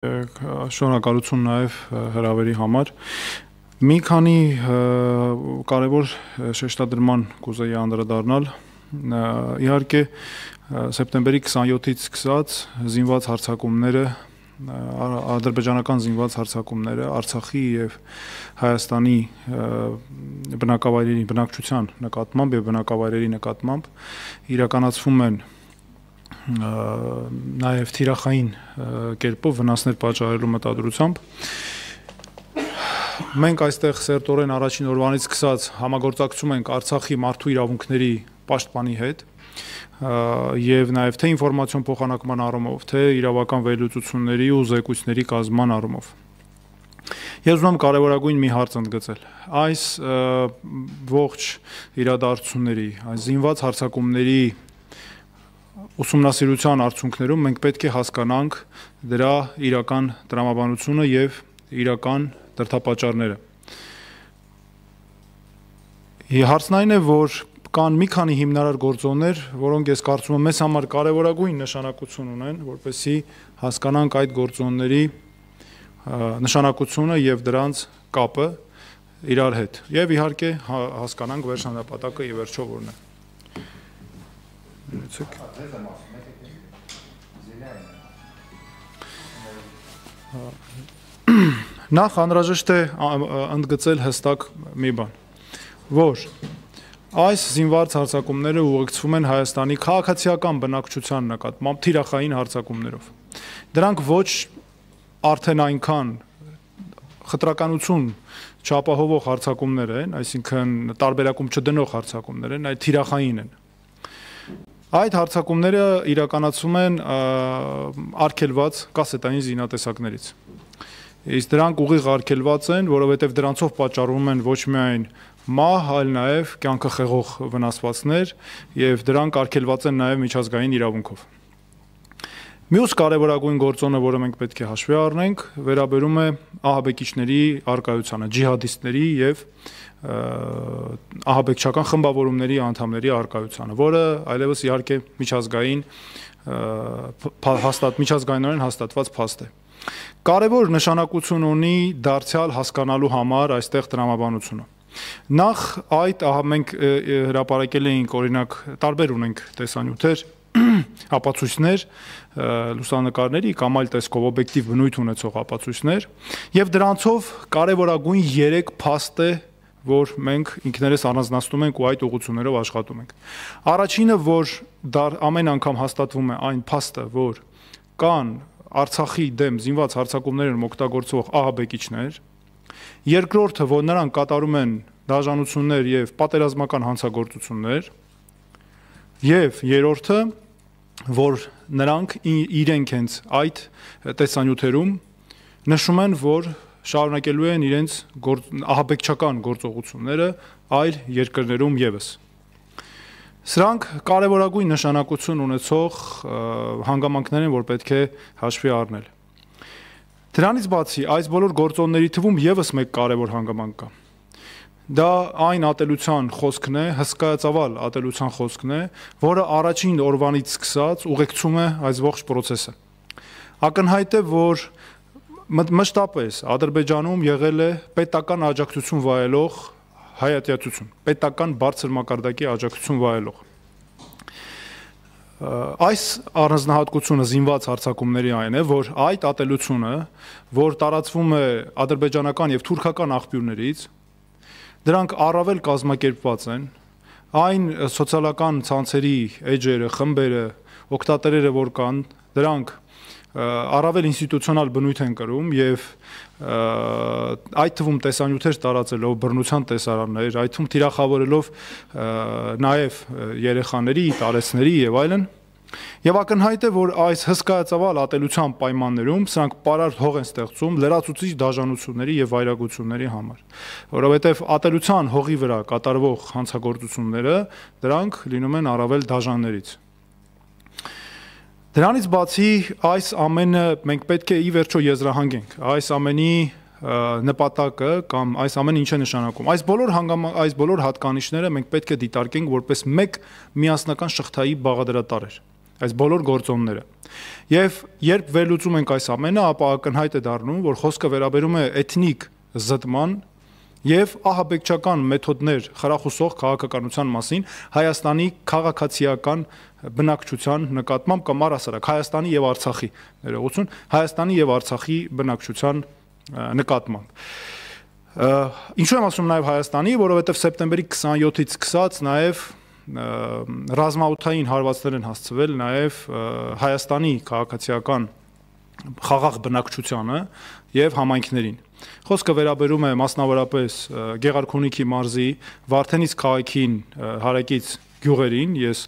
Շնորհակալություն նաև հրավերի համար։ Մի քանի կարևոր շեշտադրման կուզեի անդրադառնալ։ Իհարկե, սեպտեմբերի 27-ից սկսած զինված հարձակումները, ադրբեջանական զինված հարձակումները Արցախի եւ Հայաստանի բնակչության նկատմամբ եւ բնակավայրերի նկատմամբ իրականացվում են նաև թիրախային կերպով վնասներ պատճառելու մտադրությամբ։ Մենք այստեղ սերտորեն առաջին օրվանից սկսած համագործակցում ենք Արցախի մարդու իրավունքների պաշտպանի հետ եւ նաև թե ինֆորմացիոն փոխանակման առումով, թե իրավական վերլուծությունների ու զեկույցների կազմման առումով։ Ես ուզում եմ կարևորագույն մի հարց ընդգծել։ Այս ողջ իրադարձությունների, այս զինված հարձակումների ուսումնասիրության արդյունքներում մենք պետք է հասկանանք դրա իրական տրամաբանությունը եւ իրական դրդապատճառները։ Հարցն այն է, որ կան մի քանի հիմնարար գործոններ, որոնք ես կարծում եմ մեզ համար կարևորագույն նշանակություն ունեն, որպեսզի հասկանանք այդ գործոնների նշանակությունը եւ դրանց կապը իրար հետ։ Եվ իհարկե հասկանանք վերջնապատակը եւ վերջո որն է։ Նախ անհրաժեշտ է ընդգծել հստակ մի բան, որ այս զինված հարձակումները ուղեկցվում են Հայաստանի քաղաքացիական բնակչության նկատմամբ թիրախային հարձակումներով։ Դրանք ոչ արդեն այնքան խտրականություն չապահովող հարձակումներ են, այսինքն տարբերակում չդնող հարձակումներ են, այլ թիրախային են։ Այդ հարձակումները իրականացվում են արգելված կասետային զինատեսակներից։ Իսկ դրանք ուղիղ արգելված են, որովհետև դրանցով պատճառվում են ոչ միայն մահ, այլ նաև կյանքը խեղող վնասվածքներ եւ դրանք արգելված են նաև միջազգային իրավունքով։ Մյուս կարևորագույն գործոնը, որը մենք պետք է հաշվի առնենք, վերաբերում է ահաբեկիչների առկայությանը, ջիհադիստների եւ ահաբեկչական խմբավորումների անդամների առկայությանը, որը այլևս իհարկե միջազգայինորեն հաստատված փաստ է։ Կարևոր նշանակություն ունի դարձյալ հասկանալու համար այստեղ տրամաբանությունը։ Նախ այդ մենք հրապարակել էինք, օրինակ, տարբեր ունենք տեսանյութեր, ապացույցներ, լուսանկարների կամ այլ տեսքով օբյեկտիվ բնույթ ունեցող ապացույցներ, եւ դրանցով կարևորագույն 3 փաստ է, որ մենք ինքներս առանձնացնում ենք ու այդ ուղղություններով աշխատում ենք։ Առաջինը, որ ամեն անգամ հաստատվում է այն փաստը, որ կան Արցախի դեմ զինված հարձակումներում օգտագործվող ահաբեկիչներ, երկրորդը, որ նրանք կատարում են դաժանություններ եւ պատերազմական հանցագործություններ, եւ երրորդը, որ նրանք իրենք հենց այդ տեսանյութերում նշում են, որ շարունակելու են իրենց ահաբեկչական գործողությունները այլ երկրներում եւս։ Սրանք կարևորագույն նշանակություն ունեցող հանգամանքներ են, որ պետք է հաշվի առնել։ Դրանից բացի այս բոլոր գործոնների թվում եւս մեկ կարևոր հանգամանք կա։ Դա այն ատելության խոսքն է, հսկայածավալ ատելության խոսքն է, որը առաջին օրվանից սկսած ուղեկցում է այս ողջ process-ը։ Ակնհայտ է, որ մշտապես Ադրբեջանում եղել է պետական աջակցություն վայելող հայատյացություն, պետական բարձր մակարդակի աջակցություն վայելող։ Այս առանձնահատկությունը զինված հարձակումների այն է, որ այդ ատելությունը, որ տարածվում է ադրբեջանական եւ թուրքական աղբյուրներից, դրանք առավել կազմակերպված են, այն սոցիալական ցանցերի էջերը, խմբերը, օգտատերերը, որ կան, դրանք առավել ինստիտուցիոնալ բնույթ են կրում եւ այդ թվում տեսանյութեր տարածելով բռնության տեսարաններ, այդ թվում թիրախավորելով նաեւ երեխաների, տարեցների եւ այլն, եւ ակնհայտ է, որ այս հսկայածավալ ատելության պայմաններում սրանք պարարտ հող են ստեղծում լրացուցիչ դաժանությունների եւ վայրագությունների համար, որովհետեւ ատելության հողի վրա կատարվող հանցագործությունները դրանք լինում են առավել դաժաններից։ Դրանից բացի այս ամենը մենք պետք է ի վերջո եզրահանգենք, այս ամենի նպատակը կամ այս ամենը ինչ է նշանակում։ Այս բոլոր հատկանիշները մենք պետք է դիտարկենք որպես մեկ միասնական շղթայի բաղադրատարեր։ այս բոլոր գործոնները։ Եվ երբ վերլուծում ենք այս ամենը, ապա ակնհայտ է դառնում, որ խոսքը վերաբերում է էթնիկ զտման եւ ահաբեկչական մեթոդներ խրախուսող քաղաքականության մասին Հայաստանի քաղաքացիական բնակչության նկատմամբ կամ առհասարակ Հայաստանի եւ Արցախի ներողություն, Հայաստանի եւ Արցախի բնակչության նկատմամբ։ Ինչու եմ ասում նաեւ Հայաստանի, որովհետեւ սեպտեմբերի 27-ից սկսած նաեւ ռազմաօդային հարվածներ են հասցվել նաեւ Հայաստանի քաղաքացիական խաղաղ բնակչությանը եւ համայնքներին։ Խոսքը վերաբերում է մասնավորապես Գեղարքունիքի մարզի Վարդենից քաղաքին հարակից գյուղերին, ես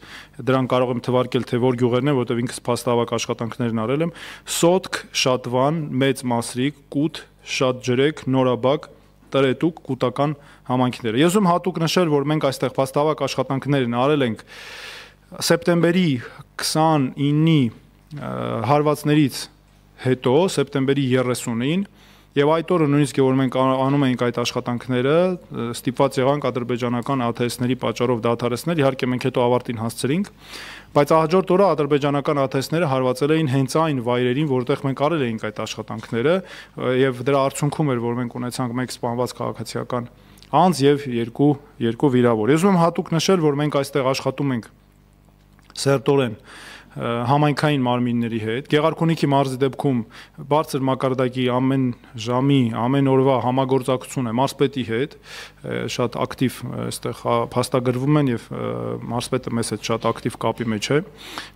դրան կարող եմ թվարկել, թե որ գյուղերն են, որտեղ ինքս փաստավակ աշխատանքներն արել եմ, Սոտք, Շատվան, Մեծ Մասրիկ, Կուտ, Շատջրեք, Նորաբակ, Տրետուկ, կൂട്ടական համայնքները։ Ես ուզում հատուկ նշել, որ մենք այստեղ փաստավակ աշխատանքներն արել ենք սեպտեմբերի 29-ի հարվածներից հետո, սեպտեմբերի 30-ին, եւ այդ օրը նույնիսկ որ մենք անում էինք այդ աշխատանքները, ստիպված եղանք ադրբեջանական ԱԹՍ-ների պատճառով դադարեցնել, իհարկե մենք հետո ավարտին հասցրինք, բայց հաջորդ օրը ադրբեջանական ԱԹՍ-ները հարվածել էին հենց այն վայրերին, որտեղ մենք արել էինք այդ աշխատանքները, եւ դրա արդյունքում էր, որ մենք ունեցանք մեկ սպանված քաղաքացիական անձ եւ երկու վիրավոր։ Ես ուզում եմ հատուկ նշել, որ մենք այստեղ աշխատում ենք սերտորեն համայնքային մարմինների հետ, Գեղարքունիքի մարզի դեպքում բարձր մակարդակի ամեն ժամի, ամեն օրվա համագործակցություն է մարզպետի հետ, շատ ակտիվ այստեղ փաստագրվում են եւ մարզպետը մեզ հետ շատ ակտիվ կապի մեջ է,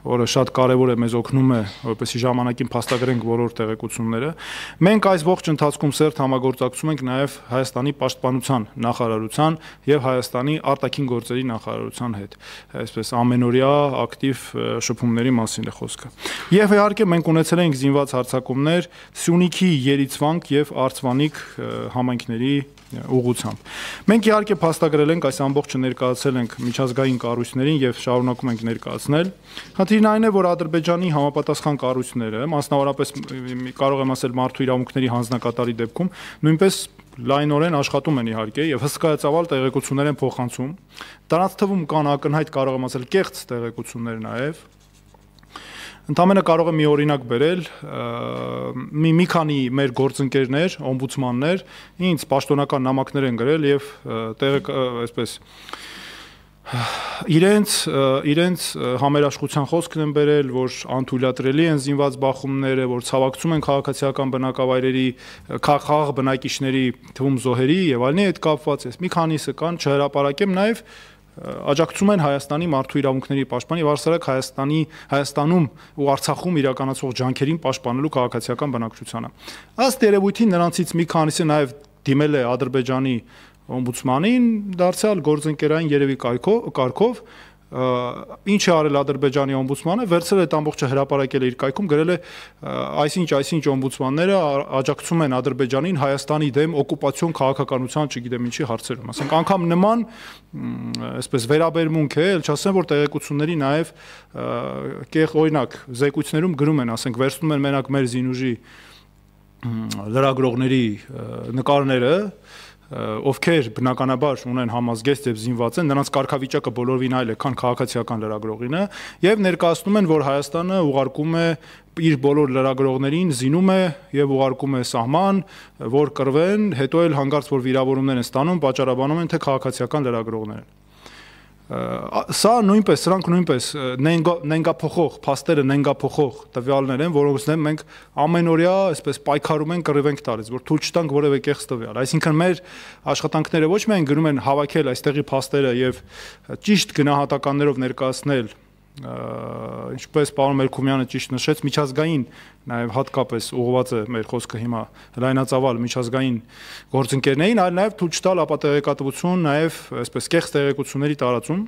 որը շատ կարեւոր է, մեզ օգնում է, որպեսզի ժամանակին փաստագրենք բոլոր տեղեկությունները։ Մենք այս ողջ ընթացքում սերտ համագործակցում ենք նաեւ Հայաստանի պաշտպանության նախարարության եւ Հայաստանի արտաքին գործերի նախարարության հետ, այսպես ամենօրյա ակտիվ շփումներ մասին է խոսքը։ Եվ իհարկե մենք ունեցել ենք զինված հարձակումներ Սյունիքի, Երիցվանք եւ Արցվանիկ համայնքների ուղղությամբ։ Մենք իհարկե փաստագրել ենք, այս ամբողջը ներկայացել ենք միջազգային կառույցներին եւ շարունակում ենք ներկայացնել։ Խնդիրն այն է, որ Ադրբեջանի համապատասխան կառույցները, մասնավորապես կարող եմ ասել մարդու իրավունքների հանձնակատարի դեպքում, նույնպես լայնորեն աշխատում են իհարկե եւ հսկայածավալ տեղեկություններ են փոխանցում։ Դրանց թվում կան ակնհայտ կարող եմ ասել կեղծ տեղեկություններ նաեւ։ Ընդամենը կարող եմ մի օրինակ բերել, մի քանի մեր գործընկերներ, օմբուդսմաններ ինձ պաշտոնական նամակներ են գրել եւ այսպես իրենց համերաշխության խոսքն են բերել, որ անթույլատրելի են զինված բախումները, որ ցավակցում են քաղաքացիական բնակավայրերի խաղաղ բնակիչների թվում զոհերի եւ այլնի հետ կապված, ես մի քանիսը կան, չհրապարակեմ նաեւ աջակցում են Հայաստանի մարդու իրավունքների պաշտպան եւ առհասարակ Հայաստանում ու Արցախում իրականացող ջանքերին պաշտպանելու քաղաքացիական բնակչությանը։ Ըստ երևույթին նրանցից մի քանիսը նաեւ դիմել է Ադրբեջանի օմբուդսմանին, դարձյալ գործընկերային երևի կարգով, ինչ է արել Ադրբեջանի օմբուդսմանը, վերցրել այդ ամբողջը հրապարակել է իր կայքում, գրել է այսինչ օմբուդսմանները աջակցում են Ադրբեջանին Հայաստանի դեմ օկուպացիոն քաղաքականության, չգիտեմ ինչի հարցերում, ասենք անգամ նման այսպես վերաբերմունք է, ել չասեմ, որ տեղեկությունների նաև օրինակ զեկույցներում գրում են, ասենք վերցնում են մենակ մեր զինուժի լրագրողների նկարները, ովքեր բնականաբար ունեն համազգեստ եւ զինված են, նրանց կարգավիճակը բոլորովին այլ է, քան քաղաքացիական լրագրողինը, եւ ներկայացնում են, որ Հայաստանը ուղարկում է իր բոլոր լրագրողներին, զինում է եւ ուղարկում է սահման, որ կռվեն, հետո էլ հանգարց որ վիրավորումներ են ստանում, պատճառաբանում են, թե քաղաքացիական լրագրողներ են։ Սրանք նույնպես նենգափոխող, փաստերը նենգափոխող տվյալներ են, որոնց դեմ մենք ամենօրյա այսպես պայքարում ենք, կռիվ ենք տալիս, որ թույլ չտանք որևէ կեղծ տվյալ։ Այսինքն մեր աշխատանքները ոչ միայն գրում են հավաքել այստեղի փաստերը եւ ճիշտ գնահատականներով ներկայացնել, ինչպես պարոն Մելքումյանը ճիշտ նշեց, միջազգային նաև հատկապես ուղղված է մեր խոսքը հիմա լայնածավալ միջազգային գործընկերներին, այլ նաև թույլ չտալ ապատեղեկատվություն, նաև այսպես կեղծ տեղեկությունների տարածում։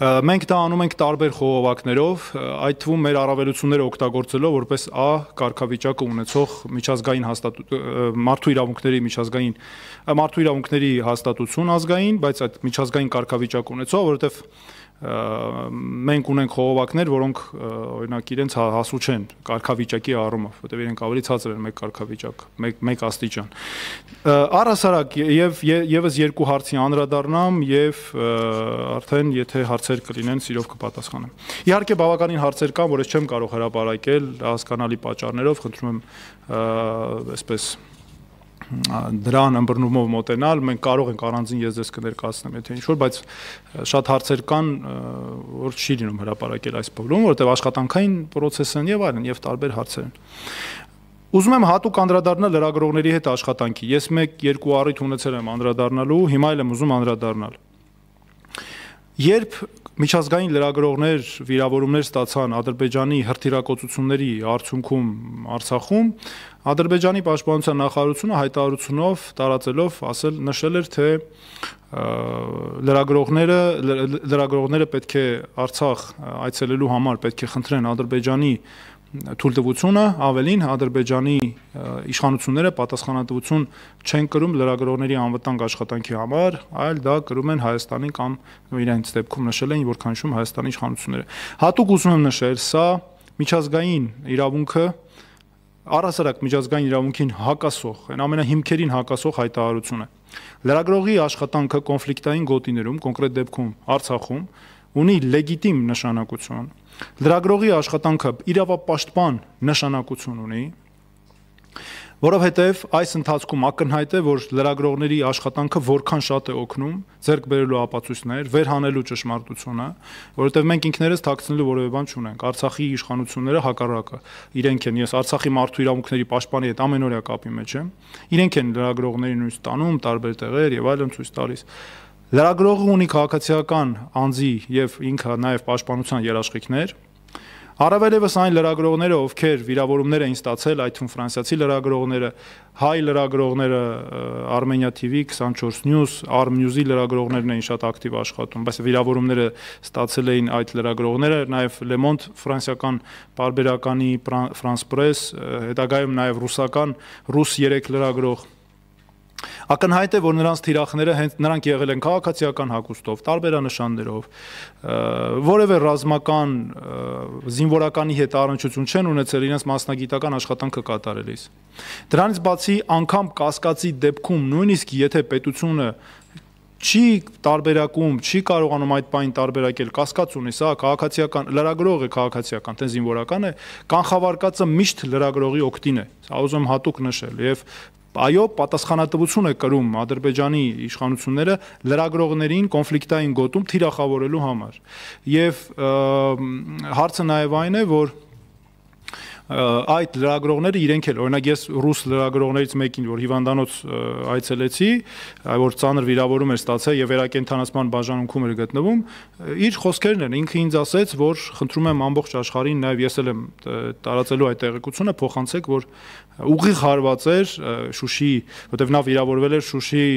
Մենք դա անում ենք տարբեր խողովակներով, այդ թվում մեր առավելությունները օգտագործելով որպես A կարգավիճակը ունեցող միջազգային մարդու իրավունքների հաստատություն ազգային, բայց այդ միջազգային կարգավիճակ ունեցող, որովհետև մենք ունենք խողովակներ, որոնք օրինակ իրենց հասու չեն կարգավիճակի առումով, որտեղ իրենք ավելի ցածր են մեկ կարգավիճակ, մեկ աստիճան։ Առհասարակ եւս երկու հարցի անդրադառնամ եւ արդեն եթե հարցեր կլինեն, սիրով կպատասխանեմ։ Իհարկե բավականին հարցեր կան, որ ես չեմ կարող հրապարակել հասկանալի պատճառներով, խնդրում եմ այսպես դրան ըմբռնումով մոտենալ, մենք կարող ենք առանձին ես ձեզ կներկայացնեմ, եթե ինչ-որ, բայց շատ հարցեր կան, որ չի լինում հրապարակել այս փուլում, որովհետև աշխատանքային պրոցես են եւ այլն, եւ տարբեր հարցեր են։ Ուզում եմ հատուկ անդրադառնալ լրագրողների հետ աշխատանքի։ Ես 1-2 առիթ ունեցել եմ անդրադառնալու, հիմա էլ եմ ուզում անդրադառնալ։ Երբ միջազգային լրագրողներ վիրավորումներ ստացան Ադրբեջանի հրթիռակոծությունների արդյունքում Արցախում, Ադրբեջանի պաշտպանության նախարարությունը հայտարարությունով տարածելով նշել էր, թե լրագրողները պետք է Արցախ այցելելու համար պետք է խնդրեն Ադրբեջանի թույլտվությունը, ավելին Ադրբեջանի իշխանությունները պատասխանատվություն չեն կրում լրագրողների անվտանգ աշխատանքի համար, այլ դա կրում են Հայաստանի կամ իրենց դեպքում նշել են, որքան հիշում Հայաստանի իշխանությունները։ Հատուկ ուզում եմ նշել, սա միջազգային իրավունքը, առհասարակ միջազգային իրավունքին հակասող, այն ամենահիմքերին հակասող հայտարարություն է։ Լրագրողի աշխատանքը կոնֆլիկտային գոտիներում, կոնկրետ դեպքում Արցախում, ունի լեգիտիմ նշանակություն։ Լրագրողի աշխատանքը իրավապաշտպան նշանակություն ունի, որովհետև այս ընթացքում ակնհայտ է, որ լրագրողների աշխատանքը որքան շատ է օգնում ձեռք բերելու ապացույցներ, վերհանելու ճշմարտությունը, որովհետև մենք ինքներս թաքցնելու որևէ բան չունենք։ Արցախի իշխանությունները հակառակը, իրենք են, ես Արցախի մարդու իրավունքների պաշտպանի հետ ամենօրյա կապի մեջ եմ, իրենք են լրագրողներին նույնիսկ տանում տարբեր տեղեր եւ այլն ցույց տալիս։ Լրագրողը ունի քաղաքացիական անձի եւ ինքը նաեւ պաշտպանության երաշխիքներ։ Առավելևս այն լրագրողները, ովքեր վիրավորումներ էին ստացել, այդ թվում ֆրանսիացի լրագրողները, հայ լրագրողները, Armenia TV, 24 News, Arm News-ի լրագրողներն էին շատ ակտիվ աշխատում, բայց վիրավորումները ստացել էին այդ լրագրողները, նաև Le Monde ֆրանսիական պարբերականի France Press, հետագայում նաև ռուսական Rus 3 լրագրող։ Ակնհայտ է, որ նրանց թիրախները հենց նրանք եղել են քաղաքացիական հագուստով, տարբերանշաններով, որևէ ռազմական զինվորականի հետ առնչություն չեն ունեցել իրենց մասնագիտական աշխատանքը կատարելիս։ Դրանից բացի անգամ կասկածի դեպքում նույնիսկ եթե պետությունը չի տարբերակում, չի կարողանում այդ բանին տարբերակել, կասկած ունի, սա քաղաքացիական լրագրող է, քաղաքացիական, թե զինվորական է, կանխավարկածը միշտ լրագրողի օգտին է։ Սա ուզում եմ հատուկ նշել եւ այո, պատասխանատվություն է կրում Ադրբեջանի իշխանությունները լրագրողներին կոնֆլիկտային գոտում թիրախավորելու համար։ Եվ հարցը նաև այն է, որ այդ լրագրողները իրենք էլ, օրինակ ես ռուս լրագրողներից մեկին, որ հիվանդանոց այցելեցի, որ ծանր վիրավորում էր ստացել եւ վերակենդանացման բաժանմունքում էր գտնվում, իր խոսքերն են, ինքը ինձ ասեց, որ խնդրում եմ ամբողջ աշխարհին, նաեւ ես էլ եմ տարածելու այդ տեղեկությունը, փոխանցեք, որ ուղիղ հարված էր Շուշիի, որտեղ նա վիրավորվել էր Շուշիի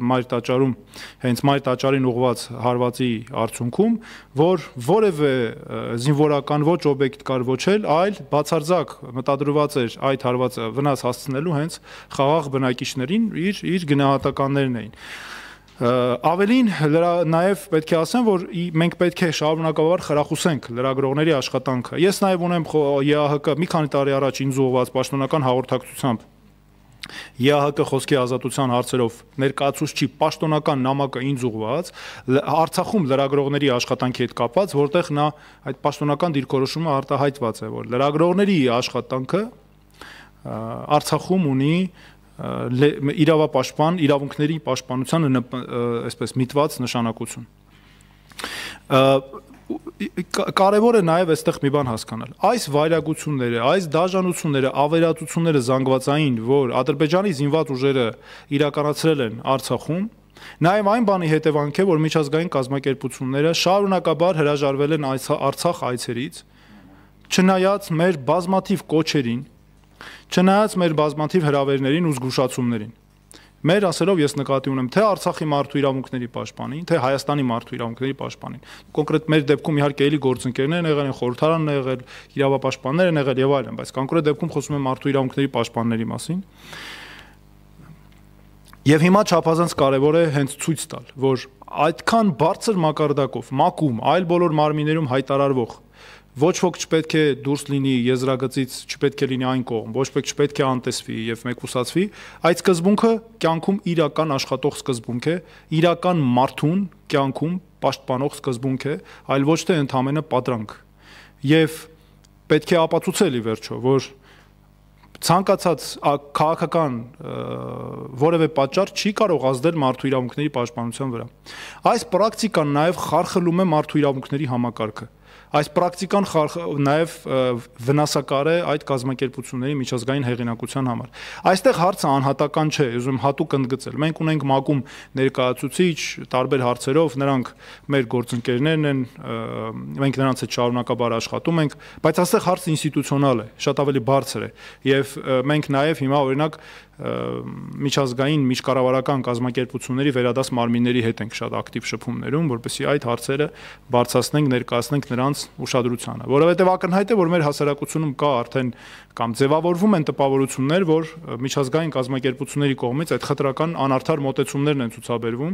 մայր տաճարում, հենց մայր տաճարին ուղված հարվածի արդյունքում, որ որևէ զինվորական ոչ օբյեկտ կար ոչ էլ, այլ բացարձակ մտադրված էր այդ հարվածը վնաս հասցնելու հենց խաղաղ բնակիչներին, իր գնահատականներն էին։ Ավելին նաև պետք է ասեմ, որ մենք պետք է շարունակաբար խրախուսենք լրագրողների աշխատանքը։ Ես նաև ունեմ ԵԱՀԿ մի քանի տարի առաջ ինձ ուղղված պաշտոնական հաղորդակցությամբ ԵԱՀԿ խոսքի ազատության հարցերով ներկայացուցչի պաշտոնական նամակը ինձ ուղղված Արցախում լրագրողների աշխատանքի հետ կապված, որտեղ նա այդ պաշտոնական դիրքորոշումը արտահայտված է, որ լրագրողների աշխատանքը Արցախում ունի իրավապաշտպան, իրավունքների պաշտպանությանը այսպես միտված նշանակություն։ Կարևոր է նաև այստեղ մի բան հասկանալ։ Այս վայրագությունները, այս դաժանությունները, ավերածությունները զանգվածային, որ Ադրբեջանի զինված ուժերը իրականացրել են Արցախում, նաև այն բանի հետևանք է, որ միջազգային կազմակերպությունները շարունակաբար հրաժարվել են Արցախ այցերից, չնայած մեր բազմաթիվ կոչերին, չնայած մեր բազմաթիվ հրավերներին ու զգուշացումներին։ Մեր ասելով ես նկատի ունեմ թե Արցախի մարդու իրավունքների պաշտպանին, թե Հայաստանի մարդու իրավունքների պաշտպանին։ Կոնկրետ մեր դեպքում իհարկե էլի գործընկերներն եղել են, խորհրդարանն եղել, իրավապաշտպաններ են եղել եւ այլն, բայց կոնկրետ դեպքում խոսում եմ մարդու իրավունքների պաշտպանների մասին։ Եվ հիմա չափազանց կարևոր է հենց ցույց տալ, որ այդքան բարձր մակարդակով, մակում, այլ բոլոր մարմիններում հայտարարվող ոչ ոք չպետք է դուրս լինի եզրագծից, չպետք է լինի այն կողմ, ոչ ոք չպետք է անտեսվի եւ մեկուսացվի, այդ սկզբունքը կյանքում իրական աշխատող սկզբունք է, իրական մարդուն կյանքում պաշտպանող սկզբունք է, այլ ոչ թե ընդհանրապես պատրանք։ Եվ պետք է ապացուցել ի վերջո, որ ցանկացած քաղաքական որևէ պատճառ չի կարող ազդել մարդու իրավունքների պաշտպանության վրա։ Այս պրակտիկան նաև խարխլում է մարդու իրավունքների համակարգը։ Այս պրակտիկան նաև վնասակար է այդ կազմակերպությունների միջազգային հեղինակության համար։ Այստեղ հարցը անհատական չէ, ուզում հատուկ ընդգծել։ Մենք ունենք ՄԱԿ-ում ներկայացուցիչ տարբեր հարցերով, նրանք մեր գործընկերներն են, մենք նրանց հետ շարունակաբար աշխատում ենք, բայց այստեղ հարցը ինստիտուցիոնալ է, շատ ավելի բարձր է։ Եվ մենք նաև հիմա օրինակ միջազգային միջկառավարական կազմակերպությունների վերադաս մարմինների հետ ենք շատ ակտիվ շփումներում, որպեսզի այդ հարցերը բարձրացնենք, ներկայացնենք նրանց ուշադրությանը, որովհետև ակնհայտ է, որ մեր հասարակությունում կա արդեն կամ ձևավորվում են տպավորություններ, որ միջազգային կազմակերպությունների կողմից այդ խտրական անարդար մոտեցումներն են ցուցաբերվում։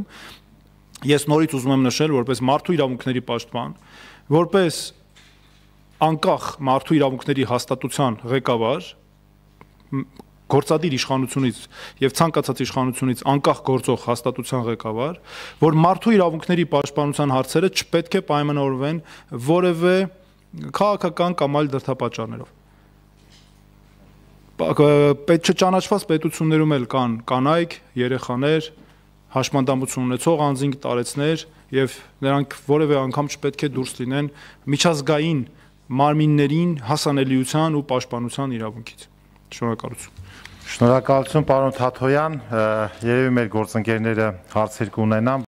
Ես նորից ուզում եմ նշել, որպես մարդու իրավունքների պաշտպան, որպես անկախ մարդու իրավունքների հաստատության ղեկավար, գործադիր իշխանությունից եւ ցանկացած իշխանությունից անկախ գործող հաստատության ղեկավար, որ մարդու իրավունքների պաշտպանության հարցերը չպետք է պայմանավորվեն որևէ քաղաքական կամ այլ դրդապատճառներով։ Պետք չճանաչված պետություններում էլ կան կանայք, երեխաներ, հաշմանդամություն ունեցող անձինք, տարեցներ եւ նրանք որևէ անգամ չպետք է դուրս լինեն միջազգային մարմիններին հասանելիության ու պաշտպանության իրավունքից։ Շնորհակալություն։ Շնորհակալություն, պարոն Թաթոյան, երևի մեր գործընկերները հարցեր կունենան։